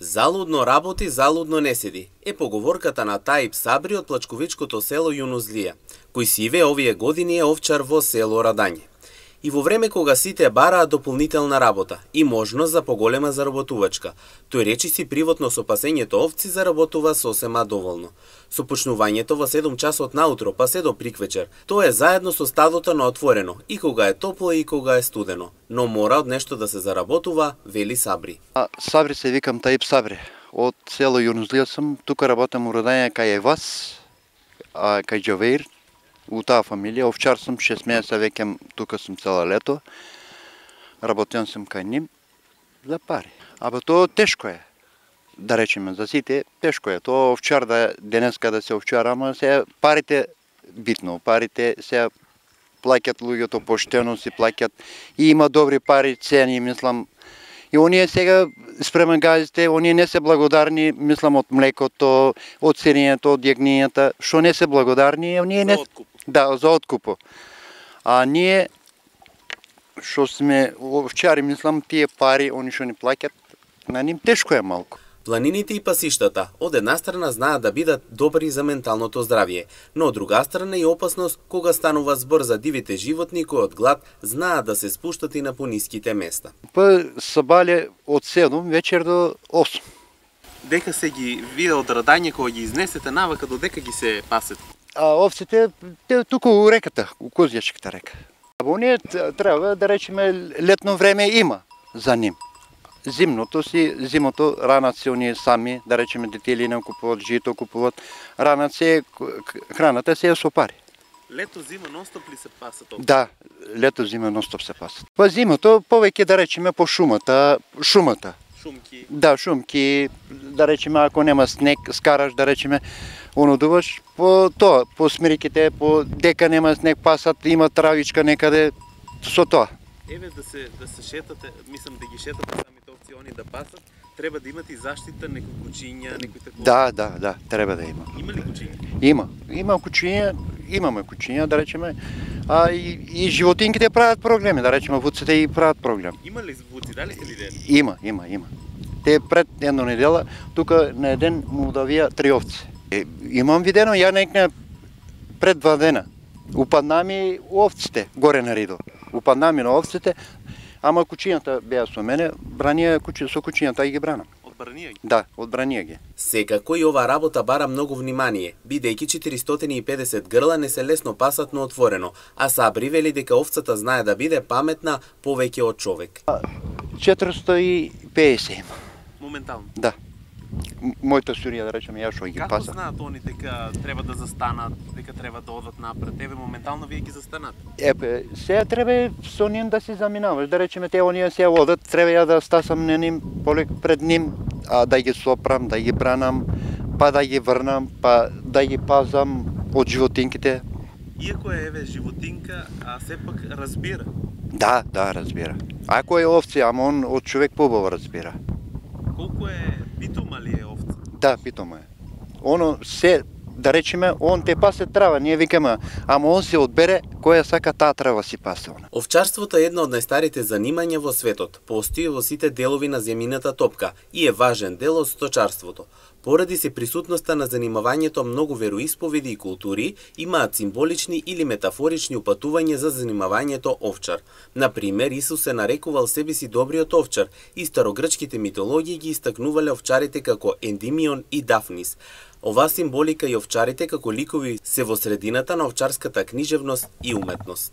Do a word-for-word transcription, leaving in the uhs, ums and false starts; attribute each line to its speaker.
Speaker 1: Залудно работи, залудно не седи, е поговорката на Таип Сабри од плачковичкото село Јунузлија, кој сиве овие години е овчар во село Радање. И во време кога сите бараат дополнителна работа и можност за поголема заработувачка, тој речиси приватно со пасењето овци заработува сосема доволно. Со почнувањето во седум часот наутро па се до приквечер, тоа е заедно со стадото на отворено, и кога е топло и кога е студено, но мора од нешто да се заработува, вели Сабри.
Speaker 2: А, Сабри се викам Таип Сабри, од село Јунузлија сум, тука работам у Радање кај Евас, а, кај Џавеир, у таа фамилија, овчар сум, шест месеца веќе тука сум цело лето, работен сум кај ним за пари. Абе тоа тешко е, да речеме, за сите тешко е, тоа овчар да денеска да се овчар, ама се парите битно, парите се плаќат луѓето поштено, си плаќат и има добри пари, цени, мислам. И оние сега спремен газите, оние не се благодарни, мислам, од млекото, од сирењето, од јагнињата, што не се благодарни, оние не...
Speaker 1: За откуп.
Speaker 2: Да, за откупо. А ние, што сме овчари, мислам, тие пари, они што ни плаќат, на ним тешко е малку.
Speaker 1: Планините и пасиштата од една страна знаат да бидат добри за менталното здравје, но од друга страна и опасност кога станува збор за дивите животни кои од глад знаат да се спуштат и на пониските места.
Speaker 2: Па сабале од седум вечер до осум.
Speaker 1: Дека се ги вие од Радање кога ги изнесете навака додека ги се пасете?
Speaker 2: А овците те тука у реката, у Козјачката река. А оние треба да речеме летно време има за ним. Зимното си, зимото ранат се оние сами, да речеме детелина купуват, жито купуват, ранат се, храната се е со пари.
Speaker 1: Лето, зима, ностоп ли се пасат овци?
Speaker 2: Да, лето, зима, ностоп се пасат. Па зимото повеќе да речеме по шумата, шумата.
Speaker 1: Шумки?
Speaker 2: Да, шумки, да речеме ако нема снег, скараш, да речеме, онудуваш, по тоа, по смириките, по дека нема снег пасат, има травичка некаде, со тоа.
Speaker 1: Еве да се да се шетате, мислам да ги шетате самите овци, они да пасат, треба да имате и заштита, некои кучиња, некои такова.
Speaker 2: Да, да, да, треба да има.
Speaker 1: Има ли кучиња?
Speaker 2: Има, има кучиња, имаме кучиња, да речеме, а и, и животинките прават проблеми, да речеме, вуците и прават проблем.
Speaker 1: Има ли вуци, дали сте видели?
Speaker 2: Има, има, има. Те пред една недела, тука на еден му давија три овци. Е, имам видено, ја некне пред два дена. Упадна ми овците, горе на ридо. Упадна ми на овците, ама кучињата беа со мене, бранија кучи, со кучињата и ги бранам.
Speaker 1: Одбранија ги?
Speaker 2: Да, одбранија ги.
Speaker 1: Секако и ова работа бара многу внимание, бидејќи четиристотини и педесет грла не се лесно пасат на отворено, а Сабри вели дека овцата знае да биде паметна повеќе од човек.
Speaker 2: четиристотини и педесет има.
Speaker 1: Моментално?
Speaker 2: Да. Мојата сурија, да речеме, ја што ги
Speaker 1: Како
Speaker 2: паса.
Speaker 1: знаат они дека треба да застанат, дека треба да одат напред? Еве моментално вие ги застанат.
Speaker 2: Епе, сега треба со ним да се заминаваш, да речеме те оние се одат, треба ја да стасам на ним, полек пред ним, а да ги сопрам, да ги бранам, па да ги врнам, па да ги пазам од животинките.
Speaker 1: Иако е еве животинка, а сепак разбира.
Speaker 2: Да, да, разбира. Ако е овце, ама он од човек побаво разбира.
Speaker 1: Колку е питома ли е овца?
Speaker 2: Да, питома е. Оно се, да речеме, он те пасе трава, ние викаме, ама он се одбере која сака таа трава си пасе она.
Speaker 1: Овчарството е едно од најстарите занимања во светот. Постои во сите делови на земјината топка и е важен дел од сточарството. Поради се присутноста на занимавањето многу вероисповеди и култури имаат символични или метафорични упатувања за занимавањето овчар. Например, Исус се нарекувал себе си добриот овчар и старогрчките митологии ги истакнувале овчарите како Ендимион и Дафнис. Оваа символика и овчарите како ликови се во средината на овчарската книжевност и уметност.